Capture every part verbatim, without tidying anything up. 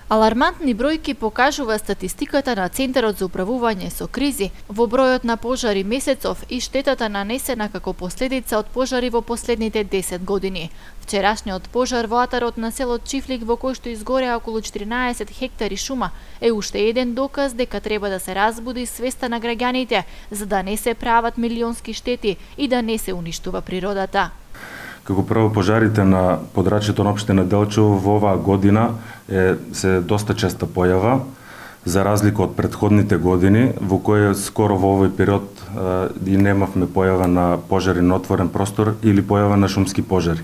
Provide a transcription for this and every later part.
Алармантни бројки покажува статистиката на Центарот за управување со кризи во бројот на пожари месецов и штетата нанесена како последица од пожари во последните десет години. Вчерашниот пожар во атарот на селот Чифлик, во кој што изгореа околу четиринаесет хектари шума, е уште еден доказ дека треба да се разбуди свеста на граѓаните за да не се прават милионски штети и да не се уништува природата. Како прво, пожарите на подрачјето на општина Делчево во оваа година е се доста честа појава, за разлика од претходните години, во кои скоро во овој период и немавме појава на пожари на отворен простор или појава на шумски пожари.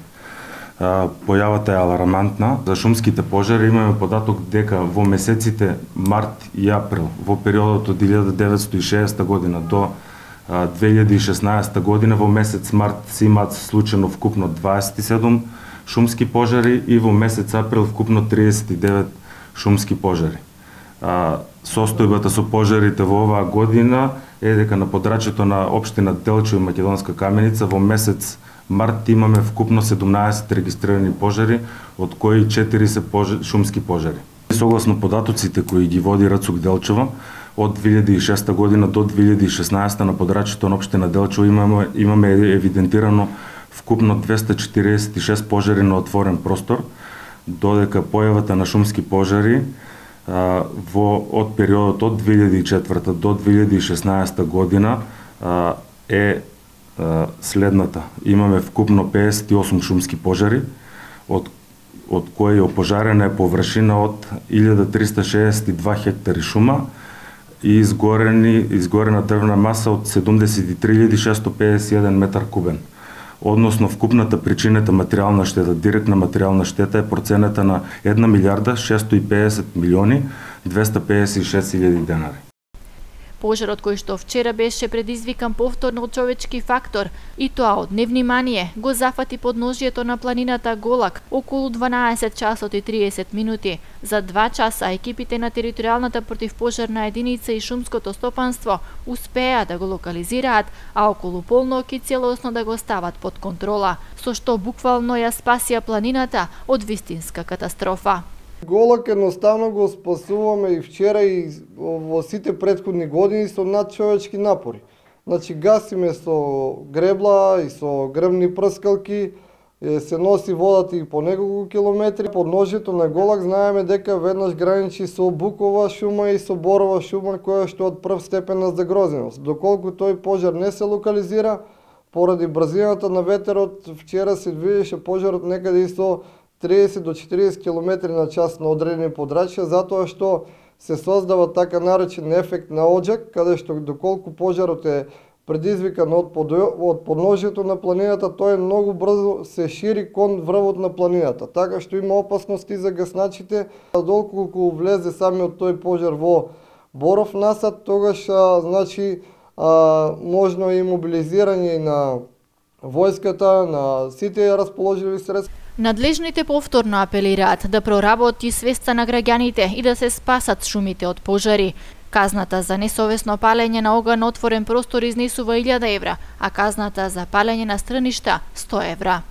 Појавата е алармантна. За шумските пожари имаме податок дека во месеците март и април, во периодот од илјада деветстотини и шеесета година до две илјади и шеснаесета година, во месец март се имаат случајно вкупно дваесет и седум шумски пожари и во месец април вкупно триесет и девет шумски пожари. Состојбата со пожарите во оваа година е дека на подрачјето на општина Делчево и Македонска Каменица во месец март имаме вкупно седумнаесет регистрирани пожари, од кои четири се пожари, шумски пожари. Согласно податоците кои ги води РЦУК Делчево, од две илјади и шеста година до две илјади и шеснаесета на подрачјето на општина Делчево имаме, имаме евидентирано вкупно двеста четириесет и шест пожари на отворен простор, додека појавата на шумски пожари а, во од периодот од две илјади и четврта до две илјади и шеснаесета година а, е а, следната. Имаме вкупно педесет и осум шумски пожари, од од кои опожарена е површина од илјада триста шеесет и два хектари шума и изгорени, изгорена дрвна маса од седумдесет и три илјади шестоста педесет и еден метар кубен. Односно, вкупната причинета материјална штета, директна материјална штета е проценета на една милијарда шестстотини и педесет милиони двеста педесет и шест илјади денари. Пожарот кој што вчера беше предизвикан повторно од човечки фактор, и тоа од невнимание, го зафати подножјето на планината Голак околу дванаесет часот и триесет минути. За два часа екипите на територијалната противпожарна единица и шумското стопанство успеа да го локализираат, а околу полнок и целосно да го стават под контрола, со што буквално ја спасија планината од вистинска катастрофа. Голак едноставно го спасуваме и вчера и во сите претходни години со надчовечки напори. Значи гасиме со гребла и со гребни прскалки, се носи водата и по неколку километри. Подножјето на Голак знаеме дека веднаш граничи со букова шума и со борова шума, која што од прв степен на загрозеност. Доколку тој пожар не се локализира, поради брзината на ветерот, вчера се движеше пожарот некаде и со триесет до четириесет километри на час на одредени подрачја, затоа што се создава така наречен ефект на оџак, каде што доколку пожарот е предизвикан од, под, од подножјето на планината, тој многу брзо се шири кон врвот на планината, така што има опасности за гасначите. Доколку влезе самиот тој пожар во Боров насад, тогаш а, значи а, можно и мобилизирање на војската, на сите расположливи средства. Надлежните повторно апелираат да проработи свеста на граѓаните и да се спасат шумите од пожари. Казната за несовесно палење на оган на отворен простор изнесува илјада евра, а казната за палење на страништа сто евра.